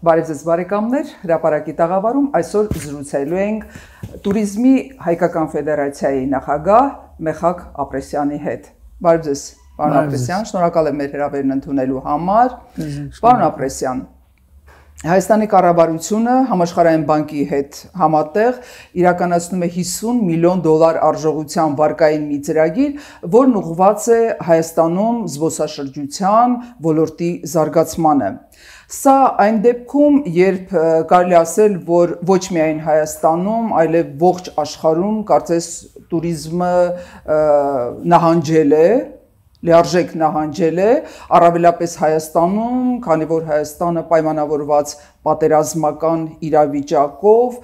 Բարև ձեզ բարեկամներ, հրապարակի տաղավարում այսօր զրուցելու ենք Տուրիզմի Հայկական Ֆեդերացիայի նախագահ Մեխակ Ապրեսյանի հետ։ Բարև ձեզ, պարոն Ապրեսյան, շնորհակալ եմ մեր հրավերն ընդունելու համար։ Պարոն Ապրեսյան, Հայաստանի կառավարությունը Համաշխարհային բանկի հետ համատեղ իրականացնում է $50 միլիոն արժողությամբ վարկային մի ծրագիր, որն ուղղված է Հայաստանում զբոսաշրջության ոլորտի զարգացմանը։ Սա այն դեպքում, երբ կարելի ասել, որ ոչ միայն Հայաստանում, այլև ողջ աշխարհում կարծես տուրիզմը նահանջել է, լիարժեք նահանջել է, առավելապես Հայաստանում, քանի որ Հայաստանը պայմանավորված պատերազմական իրավիճակով,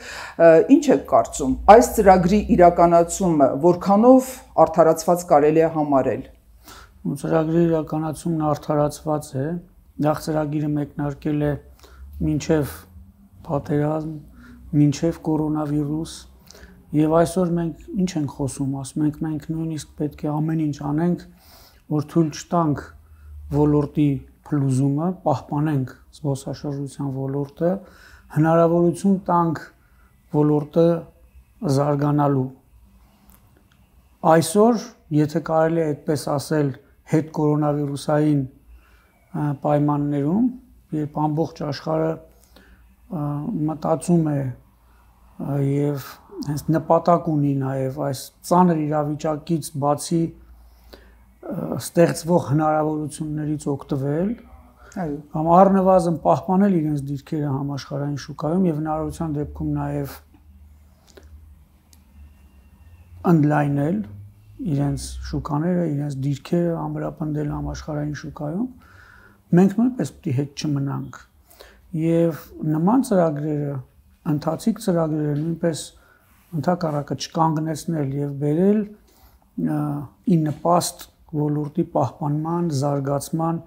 ինչ եք կարծում, այս ծրագրի իրականացումը որքանով արդարացված կարելի է համարել։ Ծրագրի իրականացումն արդարացված է, դա ծրագիրը մեկնարկել է մինչև պատերազմ, մինչև կորոնավիրուս, եւ այսօր մենք ինչ ենք խոսում, ասում ենք մենք նույնիսկ պետք է ամեն ինչ անենք, որ թույլ չտանք ոլորտի փլուզումը, պահպանենք զբոսաշրջության ոլորտը, հնարավորություն տանք ոլորտը զարգանալու։ Այսօր, եթե կարելի է այդպես ասել, հետ կորոնավիրուսային պայմաններում, երբ ամբողջ աշխարհը մտածում է եւ հենց նպատակ ունի նաեւ այս ծանր իրավիճակից բացի ստեղծվող հնարավորություններից օգտվել, կամ առնվազն պահպանել իրենց դիրքերը համաշխարհային շուկայում եւ հնարավորության դեպքում նաեւ ընդլայնել իրենց շուկաները, իրենց դիրքերը ամրապնդել համաշխարհային շուկայում, մենք նույնպես պետք է հետ չմնանք եւ նման ծրագրերը, ընթացիկ ծրագրերը նույնպես ընդհակառակը չկանգնեցնել եւ բերել ի նպաստ ոլորտի պահպանման, զարգացման,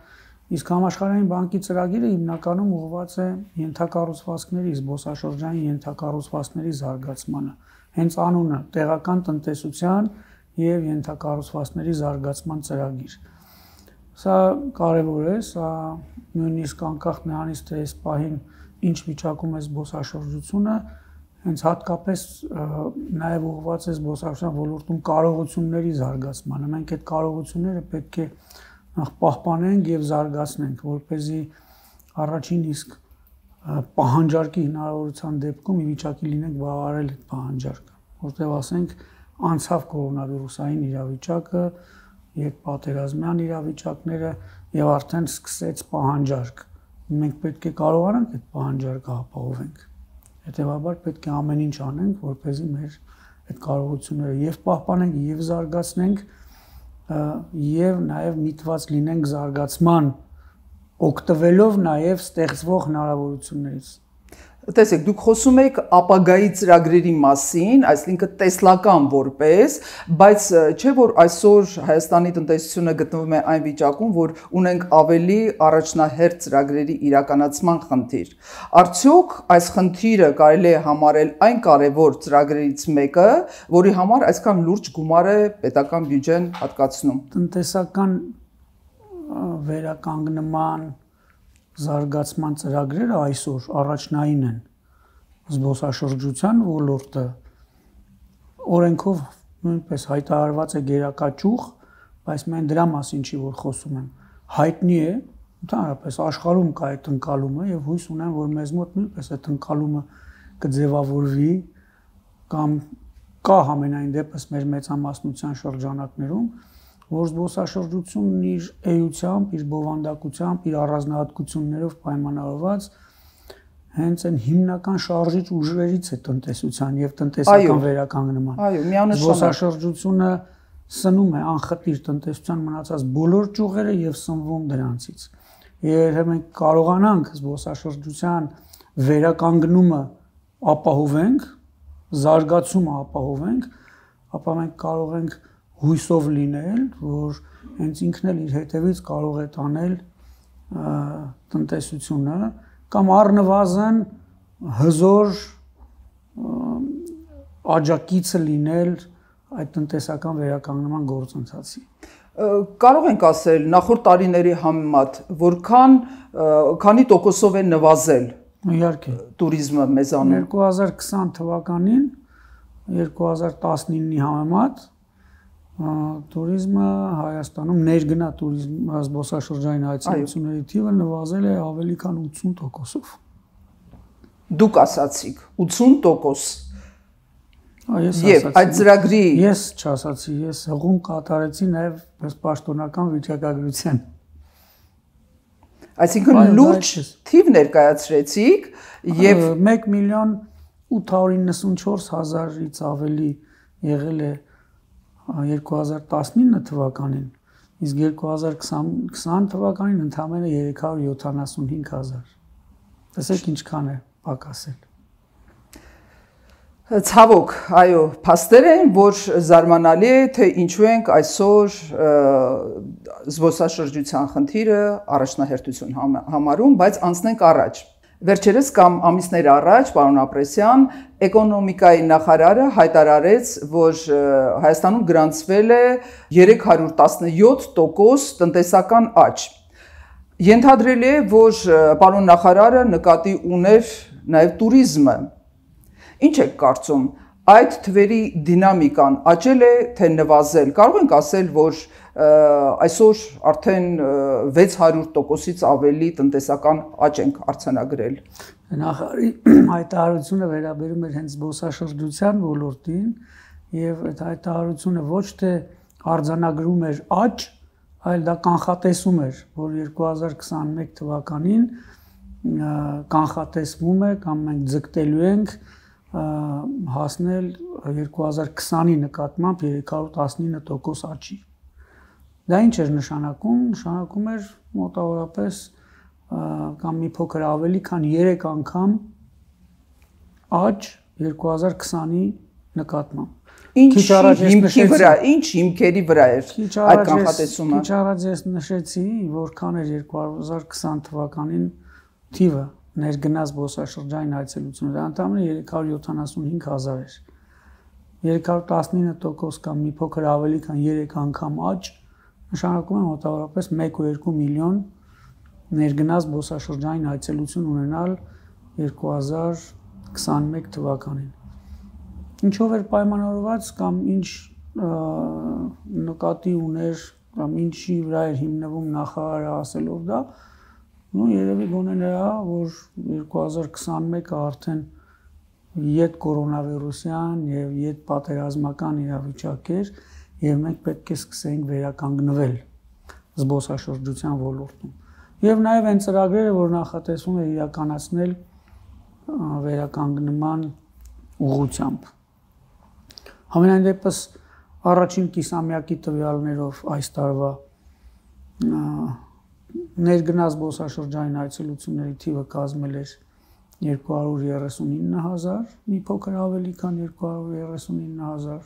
իսկ համաշխարհային բանկի ծրագիրը հիմնականում ուղղված է ենթակառուցվածքների, զբոսաշրջային ենթակառուցվածքների զարգացմանը, հենց անունը տեղական տնտեսության եւ ենթակառուցվածքների զարգացման ծրագիր։ Սա կարևոր է, սա նույնիսկ անկախ նրանից թե այս պահին ինչ վիճակում է զբոսաշրջությունը, հենց հատկապես նաև ուղղված է զբոսաշրջության ոլորտում կարողությունների զարգացմանը։ Մենք այդ կարողությունները պետք է նախ պահպանենք եւ զարգացնենք, որպեսզի առաջին իսկ պահանջարկի հնարավորության դեպքում ի վիճակի լինենք բավարարել այդ պահանջարկը, որտեղ ասենք անցավ կորոնավիրուսային իրավիճակը, երբ պատերազմյան իրավիճակները եւ արդեն սկսեց պահանջարկ։ Մենք պետք է կարողանանք այդ պահանջարկը ապահովենք։ Հետևաբար պետք է ամեն ինչ անենք, որպեսզի մեր այդ կարողությունները եւ պահպանենք, եւ զարգացնենք, եւ նաեւ միտված լինենք զարգացման, օգտվելով նաեւ ստեղծվող հնարավորություններից։ Տեսեք, դուք խոսում եք ապագայի ծրագրերի մասին, այսինքն տեսլական որպես, բայց չէ որ այսօր Հայաստանի տնտեսությունը գտնվում է այն վիճակում, որ ունենք ավելի առաջնահերթ ծրագրերի իրականացման խնդիր։ Արդյոք այս խնդիրը կարելի է համարել այն կարևոր ծրագրերից մեկը, որի համար այսքան լուրջ գումար է պետական բյուջեն հատկացնում։ Տնտեսական վերականգնման զարգացման ծրագրերը այսօր առաջնային են զբոսաշրջության ոլորտը օրենքով նույնպես հայտարարված է գերակաճյուղ, բայց մենք դրա մասին չի որ խոսում եմ, հայտնի է ընդհանրապես աշխարհում կա այդ ընկալումը եւ հույս ունեմ որ մեզ մոտ նույնպես այդ ընկալումը կձևավորվի կամ կա համենայն դեպս մեր մեծամասնության շրջանակներում որ զբոսաշրջությունն իր էությամբ, իր բովանդակությամբ, իր առանձնահատկություններով պայմանավորված հենց այն հիմնական շարժիչ ուժերից է տնտեսության եւ տնտեսական վերականգնման։ Այո, միանշանակ։ Զբոսաշրջությունը սնում է անխտիր տնտեսության մնացած բոլոր ճյուղերը եւ սնվում դրանցից։ Երբ մենք կարողանանք զբոսաշրջության վերականգնումը ապահովենք, զարգացումը ապահովենք, ապա մենք կարող ենք հույսով լինել, որ հենց ինքն էլ իր հետևից կարող է տանել տնտեսությունը կամ առնվազն հզոր աջակիցը լինել այդ տնտեսական վերականգնման գործընթացի։ Կարող ենք ասել նախորդ տարիների համեմատ, որքան քանի տոկոսով է նվազել Իհարկե տուրիզմը մեզանում 2020 թվականին 2019-ի համեմատ տուրիզմը Հայաստանում ներգնա տուրիզմ զբոսաշրջային այցելությունների թիվը նվազել է ավելի քան 80%-ով։ Դուք ասացիք 80%։ Ես Եվ այդ ծրագրի ես չասացի, ես հղում կատարեցի նաև պաշտոնական վիճակագրության։ Այսինքն լուրջ թիվ ներկայացրեցիք եւ 1,894,000-ից ավելի եղել է 2019 թվականին, իսկ 2020 թվականին ընդամենը 375,000։ Տեսեք ինչքան է պակասել։ Ցավոք, այո, փաստեր են, որ զարմանալի է, թե ինչու ենք այսօր զբոսաշրջության խնդիրը առաջնահերթություն համարում, բայց անցնենք առաջ։ Վերջերս կամ ամիսներ առաջ, պարոն Ապրեսյան, էկոնոմիկայի նախարարը հայտարարեց, որ Հայաստանում գրանցվել է 317% տնտեսական աճ։ Ենթադրելի է, որ պարոն նախարարը նկատի ուներ նաև տուրիզմը։ Ինչ եք կարծում, այդ թվերի դինամիկան աճել է, թե նվազել։ Կարող ենք ասել, որ այսօր արդեն 600%-ից ավելի տնտեսական աճ ենք արձանագրել։ Նախարարի հայտարարությունը վերաբերում էր հենց զբոսաշրջության ոլորտին, եւ այդ հայտարարությունը ոչ թե արձանագրում էր աճ, այլ դա կանխատեսում էր, որ 2021 թվականին կանխատեսվում է կամ մենք ձգտելու ենք հասնել 2020-ի նկատմամբ 319% աճի։ Դա ինչ էր նշանակում։ Նշանակում էր մոտավորապես կամ մի փոքր ավելի քան 3 անգամ աճ 2020-ի նկատմամբ։ Ինչ հիմքի վրա, ինչ հիմքերի վրա էր այդ կանխատեսումը։ Քիչ առաջ ես նշեցի, որքան էր 2020 թվականին թիվը ներգնաց զբոսաշրջային այցելությունները, դա ընդամենը 375,000 էր։ 319% կամ մի փոքր ավելի քան 3 անգամ աճ նշանակում է մոտավորապես 1.2 միլիոն ներգնաց զբոսաշրջային այցելություն ունենալ 2021 թվականին։ Ինչով էր պայմանավորված կամ ինչ նկատի ուներ կամ ինչի վրա էր հիմնվում նախարարը ասելով դա, երևի գոնե նրա, որ 2021-ը արդեն յետ կորոնավիրուսյան եւ յետ պատերազմական իրավիճակ էր եւ մենք պետք է սկսենք վերականգնվել զբոսաշրջության ոլորտում։ Եվ նաեւ այն ծրագրերը, որ նախատեսվում է իրականացնել վերականգնման ուղղությամբ։ Համենայն դեպս առաջին կիսամյակի տվյալներով այս տարվա ներգնաց զբոսաշրջային այցելությունների թիվը կազմել էր 239,000, մի փոքր ավելի քան 239,000։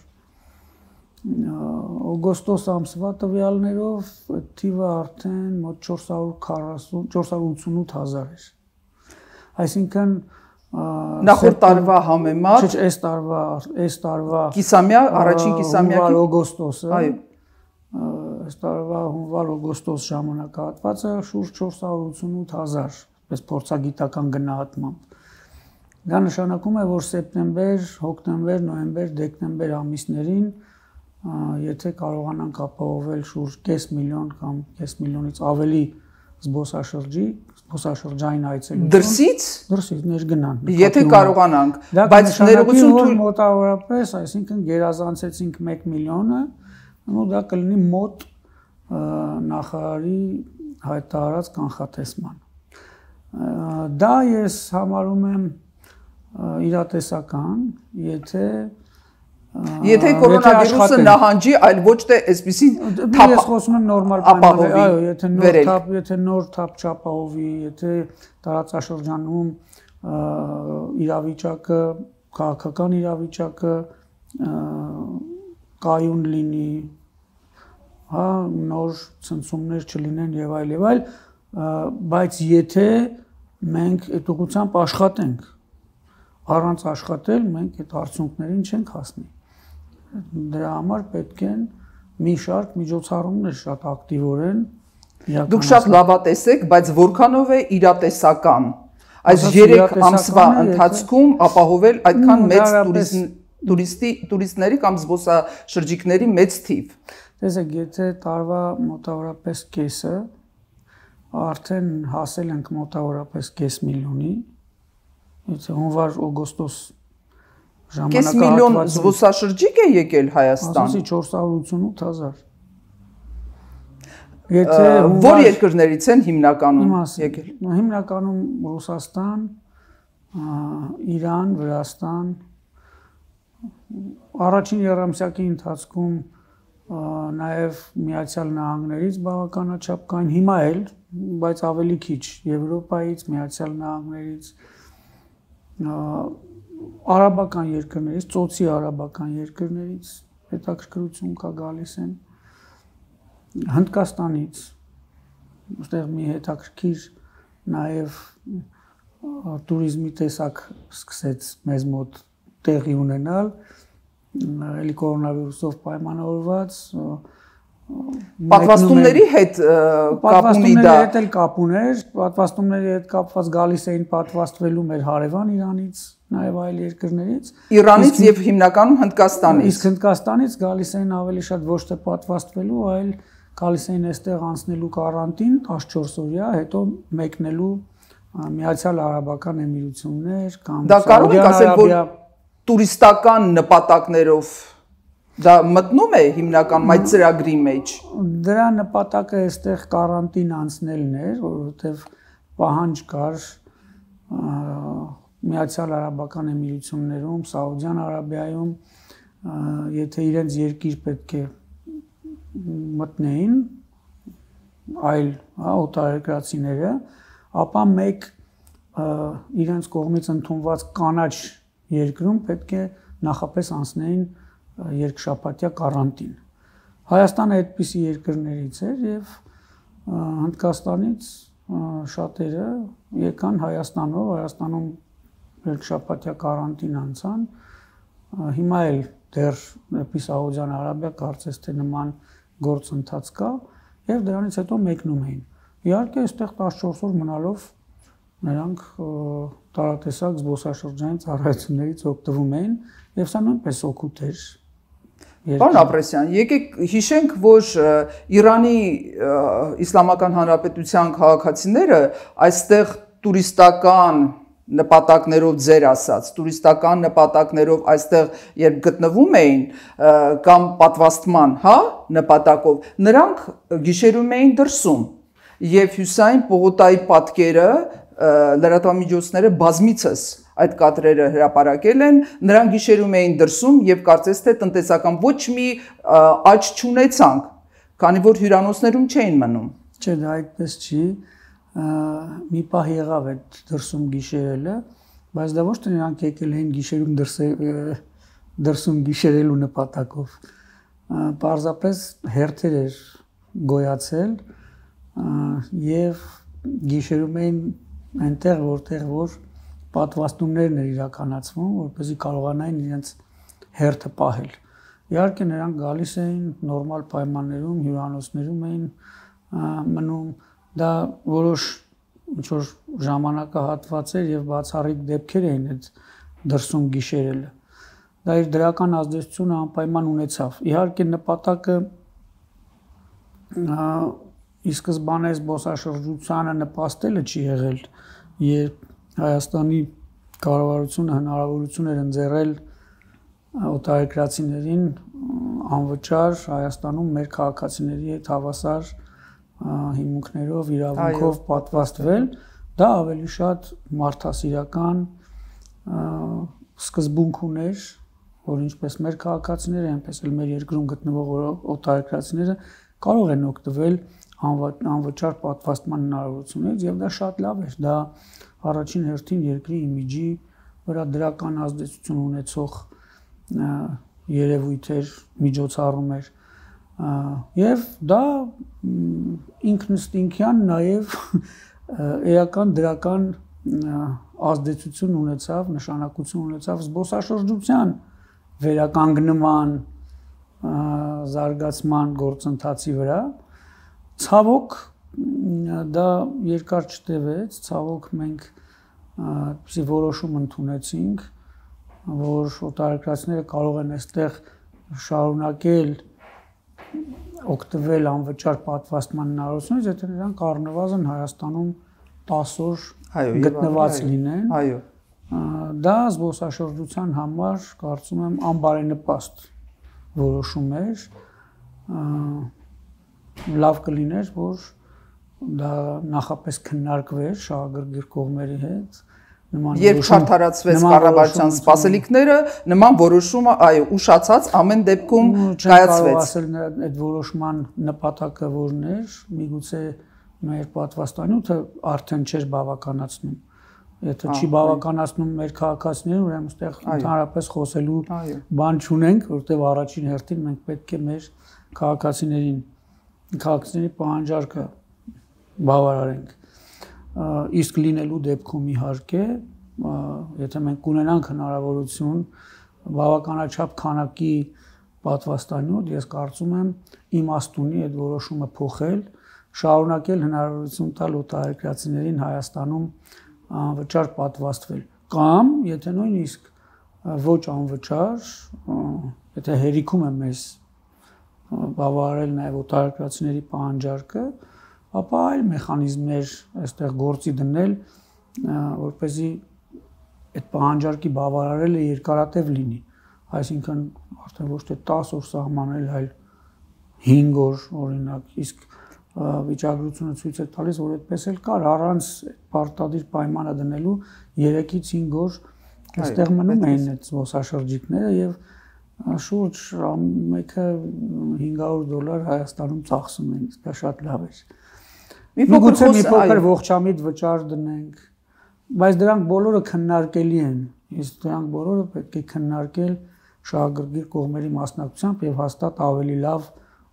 Օգոստոս ամսվա տվյալներով այդ թիվը արդեն մոտ 488,000 էր։ Այսինքն նախորդ տարվա համեմատ, չէ, այս տարվա կիսամյա, առաջին կիսամյակի օգոստոսը, այո, այս տարվա հունվար-օգոստոս ժամանակահատվածը շուրջ 488,000, պես փորձագիտական գնահատմամբ։ Դա նշանակում է, որ սեպտեմբեր, հոկտեմբեր, նոյեմբեր, դեկտեմբեր ամիսներին, եթե կարողանանք ապահովել շուրջ կես միլիոն կամ կես միլիոնից ավելի զբոսաշրջային այցելություն։ Դրսից ներգնան։ Եթե կարողանանք, բայց ներողություն մոտավորապես, այսինքն գերազանցեցինք 1 միլիոնը, դա կլինի մոտ նախարարի հայտարարած կանխատեսման։ Դա ես համարում եմ իրատեսական, եթե կորոնավիրուսը նահանջի, այլ ոչ թե այսպիսի թափ, ես խոսում եմ նորմալ պայմաններ, այո, եթե նոր թափ չապահովի, եթե տարածաշրջանում իրավիճակը, քաղաքական իրավիճակը կայուն լինի, հա, նոր ցնցումներ չլինեն եւ այլ, բայց եթե մենք այդ ուղղությամբ աշխատենք, առանց աշխատել մենք այդ արդյունքներին չենք հասնի։ Դրա համար պետք են մի շարք միջոցառումներ շատ ակտիվորեն Դուք շատ լավատես եք, բայց որքանով է իրատեսական։ Այս 3 ամսվա ընթացքում ապահովել այդքան մեծ տուրիստների կամ զբոսաշրջիկների մեծ թիվ։ Տեսեք, եթե տարվա մոտավորապես կեսը արդեն հասել ենք մոտավորապես կես միլիոնի, եթե հունվար-օգոստոս ժամանակահատվածում կես միլիոն զբոսաշրջիկ է եկել Հայաստան։ Ասացի 488,000։ Որ երկրներից են հիմնականում եկել։ Հիմնականում Ռուսաստան, Իրան, Վրաստան, առաջին երամսյակի ընթացքում նաև Միացյալ Նահանգներից բավականաչափ կային, հիմա էլ, բայց ավելի քիչ Եվրոպայից, Միացյալ Նահանգներից, արաբական երկրներից, ծոցի արաբական երկրներից հետաքրքրություն կա գալիս են, Հնդկաստանից, այստեղ մի հետաքրքիր նաև տուրիզմի տեսակ սկսեց մեզ մոտ տեղի ունենալ, էլի կորոնավիրուսով պայմանավորված, պատվաստումների հետ կապ ունի դա։ Պատվաստումների հետ էլ կապ ուներ, պատվաստումների հետ կապված գալիս էին պատվաստվելու մեր հարևան Իրանից, նաև այլ երկրներից։ Իրանից եւ հիմնականում Հնդկաստանից։ Իսկ Հնդկաստանից գալիս էին ավելի շատ ոչ թե պատվաստվելու, այլ գալիս էին այստեղ անցնելու կարանտին 14 օրյա, հետո մեկնելու Միացյալ Արաբական Էմիրություններ կամ դա կարող եք ասել, որ տուրիստական նպատակներով դա մտնում է հիմնականում այդ ծրագրի մեջ։ Դրա նպատակը այստեղ կարանտին անցնելն էր, որովհետև պահանջ կար Միացյալ Արաբական Էմիրություններում, Սաուդյան Արաբիայում, եթե իրենց երկիր պետք է մտնեին այլ օտարերկրացիները, ապա մեկ իրենց կողմից ընդունված կանաչ երկրում պետք է նախապես անցնեին երկշաբաթյա կարանտին։ Հայաստանը այդպիսի երկրներից էր եւ Հնդկաստանից շատերը եկան Հայաստանով, Հայաստանում երկշաբաթյա կարանտին անցան, հիմա էլ դեռ դեպի Սաուդյան Արաբիա կարծես թե նման գործընթաց կա եւ դրանից հետո մեկնում էին։ Իհարկե այստեղ 14 օր մնալով նրանք տարատեսակ զբոսաշրջային ծառայություններից օգտվում էին եւ սա նույնպես օգուտ էր։ Պարոն Ապրեսյան, եկեք հիշենք, որ Իրանի Իսլամական Հանրապետության քաղաքացիները այստեղ տուրիստական նպատակներով ձեր ասած, տուրիստական նպատակներով այստեղ երբ գտնվում էին կամ պատվաստման, նպատակով, նրանք գիշերում էին դրսում եւ Հյուսային պողոտայի պատկերը լրատվամիջոցները բազմիցս այդ կադրերը հրապարակել են, նրանք գիշերում էին դրսում եւ կարծես թե տնտեսական ոչ մի աճ չունեցանք, քանի որ հյուրանոցներում չէին մնում։ Չէ, դա այդպես չի, մի պահ եղավ այդ դրսում գիշերելը, բայց դա ոչ թե նրանք եկել էին գիշերում դրսում գիշերելու նպատակով, պարզապես հերթեր էր գոյացել եւ գիշերում էին այնտեղ որտեղ որ պատվաստումներն էր իրականացվում, որպեսզի կարողանային իրենց հերթը պահել։ Իհարկե նրանք գալիս էին նորմալ պայմաններում, հյուրանոցներում էին մնում, դա որոշ ինչ-որ ժամանակահատված էր եւ բացառիկ դեպքեր էին այդ դրսում գիշերելը։ Դա իր դրական ազդեցությունը անպայման ունեցավ։ Իհարկե նպատակը ի սկզբանե զբոսաշրջությանը նպաստելը չի եղել, երբ Հայաստանի կառավարությունը հնարավորություն էր ընձեռել օտարերկրացիներին անվճար Հայաստանում մեր քաղաքացիների հետ հավասար հիմունքներով, իրավունքով պատվաստվել, դա ավելի շատ մարդասիրական սկզբունք ուներ, որ ինչպես մեր քաղաքացիները, այնպես էլ մեր երկրում գտնվող օտարերկրացիները կարող են օգտվել անվճար պատվաստման հնարավորություններից եւ դա շատ լավ էր, դա առաջին հերթին երկրի իմիջի վրա դրական ազդեցություն ունեցող երևույթ էր, միջոցառում էր եւ դա ինքնըստինքյան նաեւ էական դրական ազդեցություն ունեցավ, նշանակություն ունեցավ զբոսաշրջության վերականգնման, զարգացման գործընթացի վրա։ Ցավոք դա երկար չտևեց, ցավոք մենք Այդպիսի որոշում ընդունեցինք, որ օտարերկրացիները կարող են այստեղ շարունակել օգտվել անվճար պատվաստման հնարավորությունից, եթե նրանք առնվազն Հայաստանում 10 օր գտնված լինեն։ Այո։ Դա զբոսաշրջության համար կարծում եմ անբարենպաստ որոշում էր, լավ կլիներ, որ դա նախապես քննարկվեր շահագրգիռ կողմերի հետ, երբ չարդարացվեց կառավարության սպասելիքները, նման որոշումը, այո, ուշացած ամեն դեպքում կայացվեց։ Ասել այդ որոշման նպատակը որն էր, միգուցե մեր պատվաստանյութը արդեն չէր բավականացնում։ Եթե չի բավականացնում մեր քաղաքացիներին, ուրեմն այստեղ ընդհանրապես խոսելու բան չունենք, որովհետև առաջին հերթին մենք պետք է մեր քաղաքացիների պահանջարկը բավարարենք։ Իսկ լինելու դեպքում իհարկե, եթե մենք ունենանք հնարավորություն բավականաչափ քանակի պատվաստանյութ, ես կարծում եմ իմաստ ունի այդ որոշումը փոխել, շարունակել հնարավորություն տալ օտարերկրացիներին Հայաստանում անվճար պատվաստվել, կամ եթե նույնիսկ ոչ անվճար, եթե հերիքում է մեզ բավարարել նաև օտարերկրացիների պահանջարկը, ապա այլ մեխանիզմներ այստեղ գործի դնել, որպեսզի այդ պահանջարկի բավարարելը երկարատև լինի, այսինքն արդեն ոչ թե 10 օր սահմանել, այլ 5 օր օրինակ, իսկ վիճակագրությունը ցույց է տալիս, որ այդպես էլ կար, առանց պարտադիր պայմանը դնելու 3-ից 5 օր այստեղ մնում էին այդ զբոսաշրջիկները եւ շուրջ մեկը $500 Հայաստանում ծախսում են, դա շատ լավ է։ Միգուցե մի փոքր ողջամիտ վճար դնենք, բայց դրանք բոլորը քննարկելի են, իսկ դրանք բոլորը պետք է քննարկել շահագրգիռ կողմերի մասնակցությամբ եւ հաստատ ավելի լավ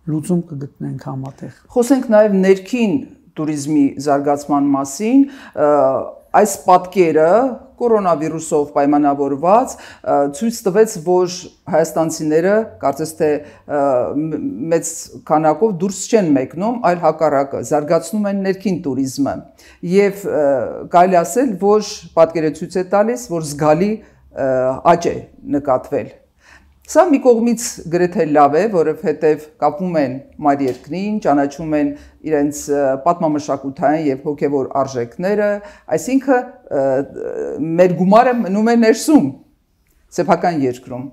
լուծում կգտնենք համատեղ։ Խոսենք նաև ներքին туриզմի զարգացման մասին, այս պատկերը կորոնավիրուսով պայմանավորված ցույց տվեց, որ հայաստանցիները կարծես թե մեծ քանակով դուրս չեն մեկնում, այլ հակառակը զարգացնում են ներքին туриզմը եւ կարելի ասել, որ պատկերը ցույց է տալիս, որ զգալի աճ է նկատվել։ Սա մի կողմից գրեթե լավ է, որովհետև կապվում են մայր երկրին, ճանաչում են իրենց պատմամշակութային եւ հոգեվոր արժեքները, այսինքն մեր գումարը մնում է ներսում, սեփական երկրում։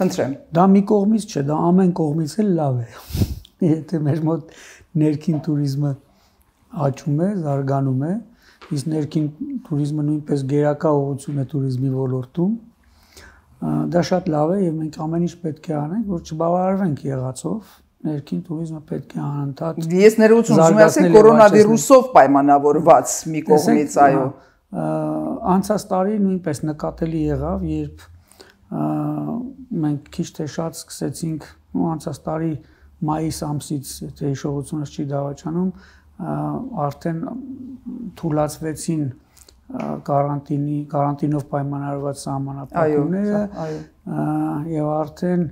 Խնդրեմ։ Դա մի կողմից չէ, դա ամեն կողմից էլ լավ է։ Եթե մեր մոտ ներքին туриզմը աճում է, զարգանում է, իսկ ներքին туриզմը նույնպես գերակա ուղղություն է туриզմի ոլորտում, դա շատ լավ է եւ մենք ամեն ինչ պետք է անենք, որ չբավարարվենք եղածով, ներքին туриզմը պետք է անընդհատ։ Ես ներողություն ուզում եմ ասել կորոնավիրուսով պայմանավորված մի կողմից, այո։ Անցած տարի նույնպես նկատելի եղավ, երբ մենք քիչ թե շատ սկսեցինք, անցած տարի մայիս ամսից, եթե հիշողությունս չի դավաճանում, արդեն թույլատրվեցին կարանտինով պայմանավորված սահմանափակումները եւ արդեն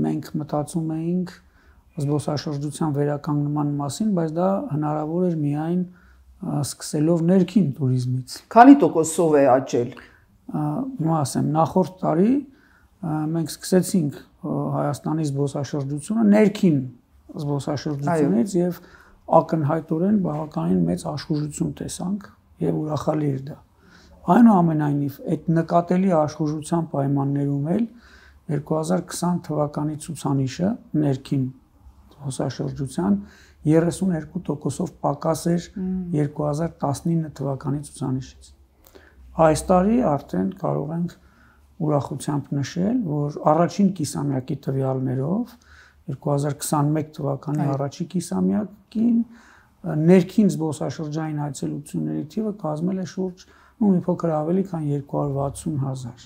մենք մտածում էինք զբոսաշրջության վերականգնման մասին, բայց դա հնարավոր էր միայն սկսելով ներքին туриզմից։ Քանի տոկոսով է աճել։ Ասեմ, նախորդ տարի մենք սկսեցինք Հայաստանի զբոսաշրջությունը ներքին զբոսաշրջությունից եւ ակնհայտորեն բավականին մեծ աշխուժություն տեսանք եւ ուրախալի էր դա։ Այնուամենայնիվ, այդ նկատելի աշխուժության պայմաններում էլ 2020 թվականի ցուցանիշը ներքին զբոսաշրջության 32%-ով պակաս էր 2019 թվականի ցուցանիշից։ Այս տարի արդեն կարող ենք ուրախությամբ նշել, որ առաջին կիսամյակի տվյալներով 2021 թվականի առաջին կիսամյակին ներքին զբոսաշրջային այցելությունների թիվը կազմել է շուրջ մի փոքր ավելի քան 260,000։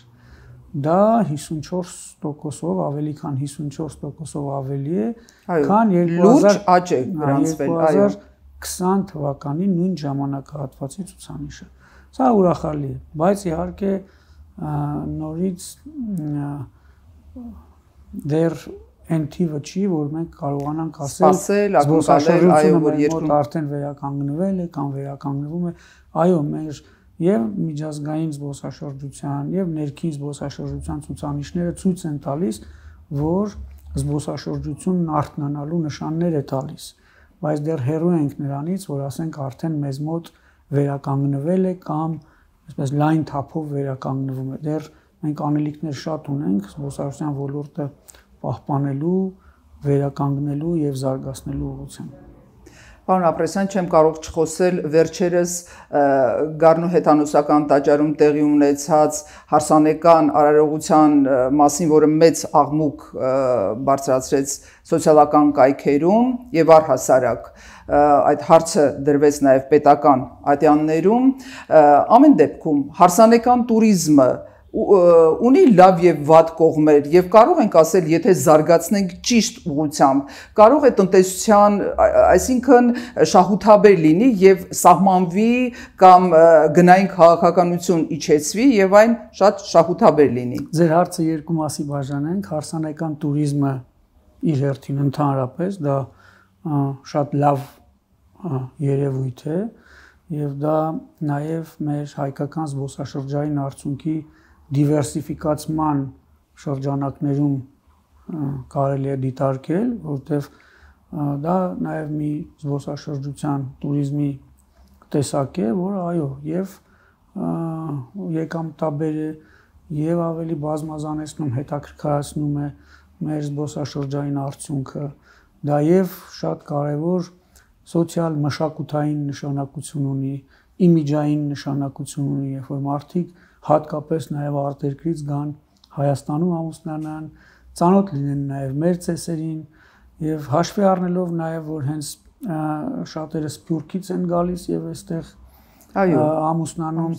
Դա 54%-ով ավելի քան 54%-ով ավելի է, քան 2020 թվականի նույն ժամանակահատվածի ցուցանիշը։ Սա ուրախալի է, բայց իհարկե նորից դեռ այն թիվը չի, որ մենք կարողանանք ասել զբոսաշրջությունը մոտ արդեն վերականգնվել է կամ վերականգնվում է։ Այո, մեր եւ միջազգային զբոսաշրջության եւ ներքին զբոսաշրջության ցուցանիշները ցույց են տալիս, որ զբոսաշրջությունն արթնանալու նշաններ է տալիս, բայց դեռ հեռու ենք նրանից, որ ասենք արդեն մեզ մոտ վերականգնվել է կամ այսպես լայն թափով վերականգնվում է։ Դեռ մենք անելիքներ շատ ունենք զբոսաշրջության ոլորտը պահպանելու, վերականգնելու եւ զարգացնելու ուղղությամբ։ Պարոն Ապրեսյան, չեմ կարող չխոսել վերջերս Գառնու հեթանոսական տաճարում տեղի ունեցած հարսանեկան արարողության մասին, որը մեծ աղմուկ բարձրացրեց սոցիալական կայքերում եւ առհասարակ այդ հարցը դրվեց նաեւ պետական ատյաններում, ամեն դեպքում հարսանեկան туриզմը ունի լավ եւ վատ կողմեր եւ կարող ենք ասել, եթե զարգացնենք ճիշտ ուղղությամբ, կարող է տնտեսության, այսինքն շահութաբեր լինի եւ սահմանվի կամ գնային քաղաքականություն իջեցվի եւ այն շատ շահութաբեր լինի։ Ձեր հարցը երկու մասի բաժանենք, հարսանեկան туриզմը իր հերթին ընդհանրապես դա շատ լավ երևույթ է եւ դա նաեւ մեր հայկական զբոսաշրջային արդյունքի դիվերսիֆիկացման շրջանակներում կարելի է դիտարկել, որտեղ դա նաև մի զբոսաշրջության туриզմի տեսակ է, որը այո, եւ եկամտաբեր է եւ ավելի բազմազանեցնում, հետաքրքրացնում է մեր զբոսաշրջային արդյունքը, դա եւ շատ կարեւոր սոցիալ մշակութային նշանակություն ունի, իմիջային նշանակություն ունի, երբ որ մարդիկ հատկապես նաև արտերկրից գան Հայաստանում ամուսնանան, ծանոթ լինեն նաև մեր ծեսերին եւ հաշվի առնելով նաև որ հենց շատերը Սփյուռքից են գալիս եւ այստեղ ամուսնանում,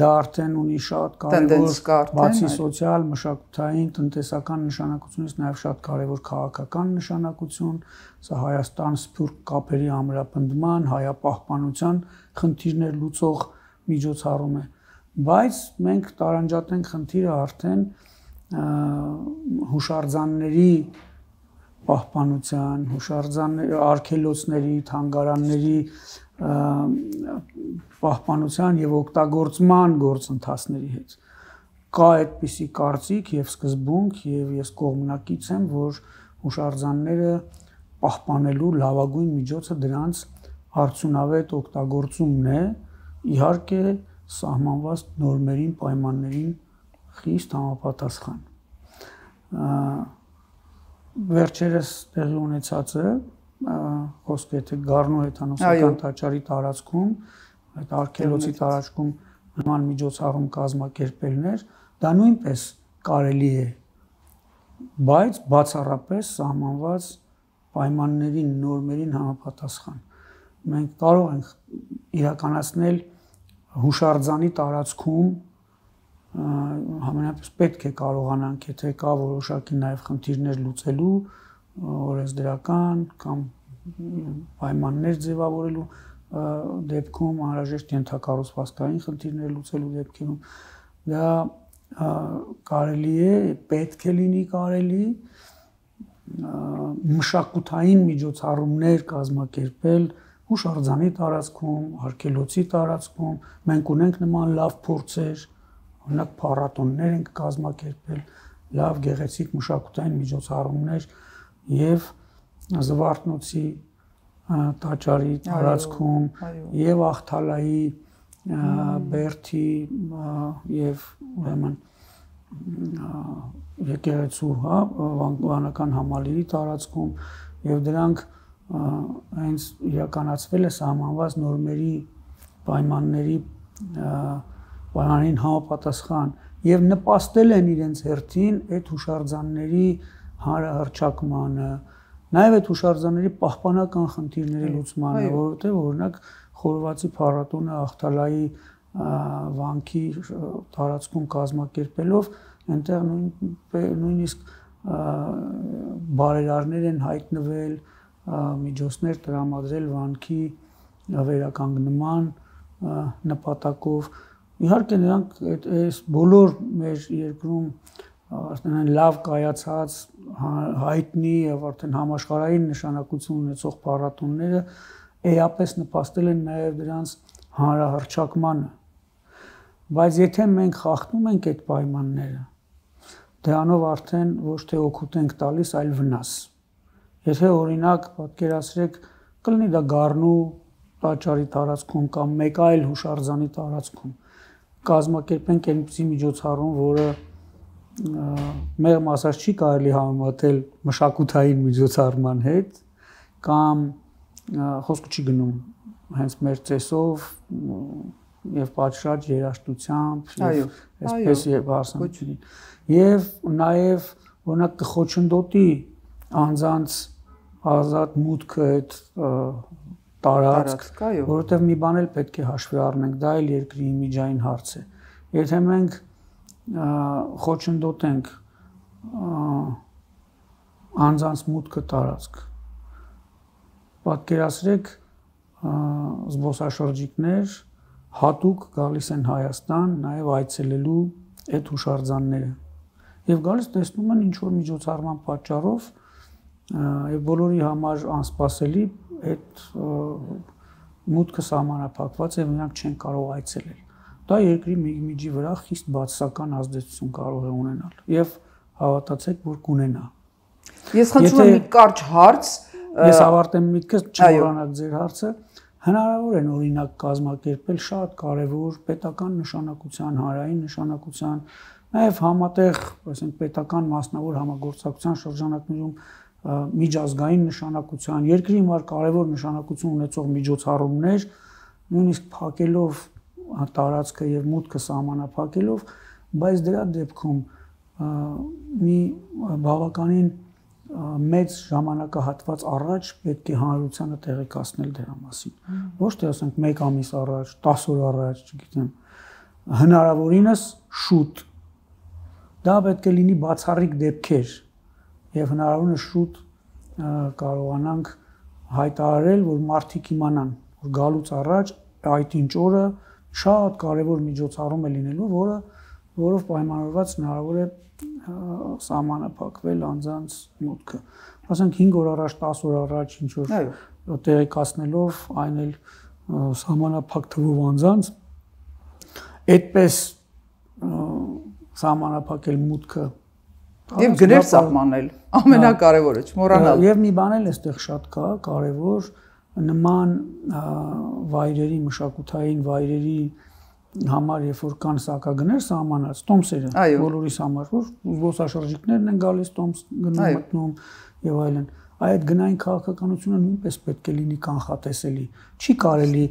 դա արդեն ունի շատ կարևոր բացի սոցիալ, մշակութային, տնտեսական նշանակությունից նաև շատ կարևոր քաղաքական նշանակություն, սա Հայաստան-Սփյուռք կապերի ամրապնդման, հայապահպանության խնդիրներ լուծող միջոցառում է։ Բայց մենք տարանջատենք խնդիրը արդեն հուշարձանների պահպանության, հուշարձանների, արգելոցների, թանգարանների պահպանության եւ օգտագործման գործընթացների հետ։ Կա այդպիսի կարծիք եւ սկզբունք եւ ես կողմնակից եմ, որ հուշարձանները պահպանելու լավագույն միջոցը դրանց արդյունավետ օգտագործումն է, իհարկե սահմանված նորմերին, պայմաններին խիստ համապատասխան։ Վերջերս տեղի ունեցածը խոսքը թե Գառնու հեթանոսական տաճարի տարածքում, այդ արգելոցի տարածքում նման միջոցառում կազմակերպելն էր, դա նույնպես կարելի է, բայց բացառապես սահմանված պայմաններին, նորմերին համապատասխան։ Մենք կարող ենք իրականացնել հուշարձանի տարածքում համենայնպես պետք է կարողանանք, եթե կա որոշակի նաև խնդիրներ լուծելու, օրենսդրական կամ պայմաններ ձևավորելու դեպքում, անհրաժեշտ ենթակառուցվածքային խնդիրներ լուծելու դեպքերում, դա կարելի է, պետք է լինի կարելի մշակութային միջոցառումներ կազմակերպել հուշարձանի տարածքում, արգելոցի տարածքում, մենք ունենք նման լավ փորձեր, օրինակ փառատոններ ենք կազմակերպել, լավ գեղեցիկ մշակութային միջոցառումներ եւ Զվարթնոցի տաճարի տարածքում եւ Ախթալայի Բերթի եւ ուրեմն եկեղեցու, վանական համալիրի տարածքում եւ դրանք հենց իրականացվել է սահմանված նորմերի պայմաններին համապատասխան եւ նպաստել են իրենց հերթին այդ հուշարձանների հանրահռչակմանը, նաեւ այդ հուշարձանների պահպանական խնդիրների լուծմանը, որովհետեւ օրինակ Խորովածի փառատոնը Ախթալայի վանքի տարածքում կազմակերպելով այնտեղ նույնիսկ բարերարներ են հայտնվել, միջոցներ տրամադրել վանքի վերականգնման նպատակով։ Իհարկե նրանք այս բոլոր մեր երկրում արդեն լավ կայացած հայտնի եւ արդեն համաշխարհային նշանակություն ունեցող փառատոնները էապես նպաստել են նաեւ դրանց հանրահռչակմանը։ բայց եթե մենք խախտում ենք այդ պայմանները, դրանով արդեն ոչ թե օգուտ ենք տալիս, այլ վնաս։ Եթե օրինակ պատկերացրեք, կլինի դա Գառնու տաճարի տարածքում կամ մեկ այլ հուշարձանի տարածքում, կազմակերպենք այնպիսի միջոցառում, որը մեղմ ասած չի կարելի համեմատել մշակութային միջոցառման հետ, կամ խոսքը չի գնում հենց մեր ծեսով եւ պատշաճ երաժշտությամբ եւ այսպես եւ հարսանիքին եւ նաեւ օրինակ կխոչընդոտի անձանց ազատ մուտքը այդ տարածք, որովհետեւ մի բան էլ պետք է հաշվի առնենք, դա էլ երկրի իմիջային հարց է։ Եթե մենք խոչընդոտենք անձանց մուտքը տարածք, պատկերացրեք զբոսաշրջիկներ հատուկ գալիս են Հայաստան նաև այցելելու այդ հուշարձանները եւ գալիս տեսնում են ինչ որ միջոցառման պատճառով եւ բոլորի համար անսպասելի այդ մուտքը սահմանափակված է, նրանք չեն կարող այցելել։ Դա երկրի միջի վրա խիստ բացասական ազդեցություն կարող է ունենալ եւ հավատացեք, որ կունենա։ Ես խնդրում եմ մի կարճ հարց, ես ավարտեմ միտքս, չմոռանաք ձեր հարցը։ Հնարավոր է օրինակ կազմակերպել շատ կարևոր պետական նշանակության, հանրային նշանակության, նաև համատեղ, ասենք պետական մասնավոր համագործակցության շրջանակներում միջազգային նշանակության, երկրի համար կարևոր նշանակություն ունեցող միջոցառումներ, նույնիսկ փակելով տարածքը եւ մուտքը սահմանափակելով, բայց դրա դեպքում մի բավականին մեծ ժամանակահատված առաջ պետք է հանրությանը տեղեկացնել դրա մասին։ Ոչ թե ասենք 1 ամիս առաջ, 10 օր առաջ, չգիտեմ, հնարավորինս շուտ։ Դա պետք է լինի բացառիկ դեպքեր եւ հնարավորինս շուտ կարողանանք հայտարարել, որ մարդիկ իմանան, որ գալուց առաջ այդ ինչ օրը շատ կարևոր միջոցառում է լինելու, որով պայմանավորված հնարավոր է սահմանափակվել անձանց մուտքը։ Ասենք 5 օր առաջ, 10 օր առաջ ինչ որ տեղեկացնելով այն էլ սահմանափակ թվով անձանց, այդպես սահմանափակել մուտքը եւ գներ սահմանել, ամենակարևորը չմոռանալ։ Եվ մի բան էլ այստեղ շատ կա, կարևոր նման վայրերի, մշակութային վայրերի համար, երբ որ կան սակագներ սահմանած, տոմսերը բոլորիս համար, որ զբոսաշրջիկներն են գալիս, տոմս գնում մտնում եւ այլն, այդ գնային քաղաքականությունը նույնպես պետք է լինի կանխատեսելի։ Չի կարելի,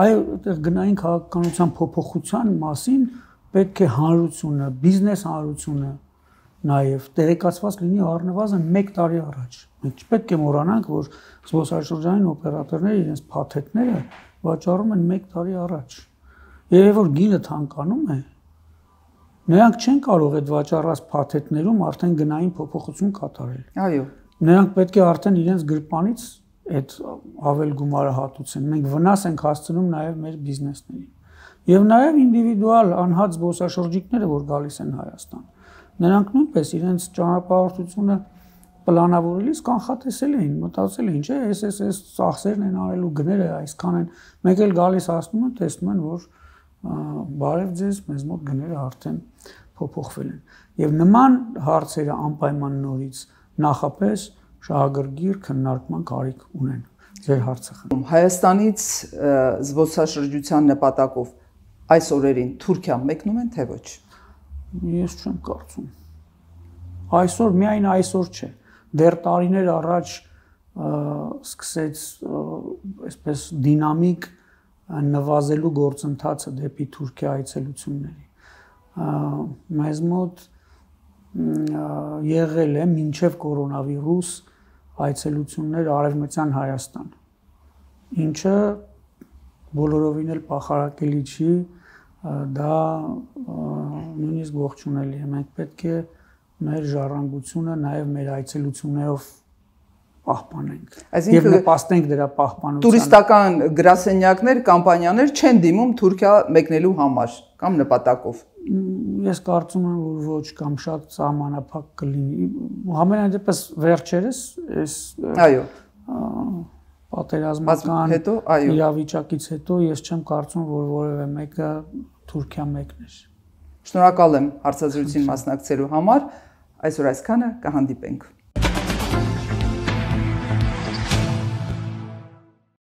այդտեղ գնային քաղաքականության փոփոխության մասին պետք է հանրությունը, բիզնես հանրությունը նաեւ տեղեկացված լինի առնվազն 1 տարի առաջ։ Մենք չպետք է մոռանանք, որ զբոսաշրջանային օպերատորները իրենց փաթեթները վաճառում են 1 տարի առաջ։ Երբ որ գինը թանկանում է, նրանք չեն կարող այդ վաճառած փաթեթներում արդեն գնային փոփոխություն կատարել։ Այո։ Նրանք պետք է արդեն իրենց գրպանից այդ ավել գումարը հատուցեն։ Մենք վնաս ենք հասցնում նաև մեր բիզնեսներին։ Եվ նաև ինդիվիդուալ անհատ զբոսաշրջիկները, որ գալիս են Հայաստան, նրանք նույնպես իրենց ճանապարհորդությունը պլանավորելիս կանխատեսել էին, մտածել էին, չէ, այս ծախսերն են արելու, գները այսքան են։ Մեկ էլ գալիս հասնում են, տեսնում են, որ բարև ձեզ, մեզ մոտ գները արդեն փոփոխվել են։ Եվ նման հարցերը անպայման նորից նախապես շահագրգիռ քննարկման կարիք ունեն։ Ձեր հարցը խնդրում։ Հայաստանից զբոսաշրջության նպատակով այս օրերին Թուրքիա մեկնում են, թե ոչ։ Ես չեմ կարծում։ Այսօր միայն այսօր չէ։ Դեռ տարիներ առաջ սկսեց այսպես դինամիկ նվազելու գործընթացը դեպի Թուրքիա այցելությունների։ Մեզ մոտ եղել է մինչև կորոնավիրուս այցելություններ արևմտյան Հայաստան, ինչը բոլորովին էլ պախարակելի չի, դա նույնիսկ ողջունելի է։ Մենք պետք է մեր ժառանգությունը նաև մեր այցելություններով պահպանենք եւ նպաստենք դրա պահպանությանը։ Տուրիստական գրասենյակներ, կամպանիաներ չեն դիմում Թուրքիա մեկնելու համար կամ նպատակով։ Ես կարծում եմ, որ ոչ կամ շատ սահմանափակ կլինի։ Համենայն դեպս վերջերս այս այո պատերազմական իրավիճակից հետո ես չեմ կարծում, որ որևէ մեկը Թուրքիա մեկն էր։ Շնորհակալ եմ հարցազրույցին մասնակցելու համար։ Այսօր այսքանը, կհանդիպենք։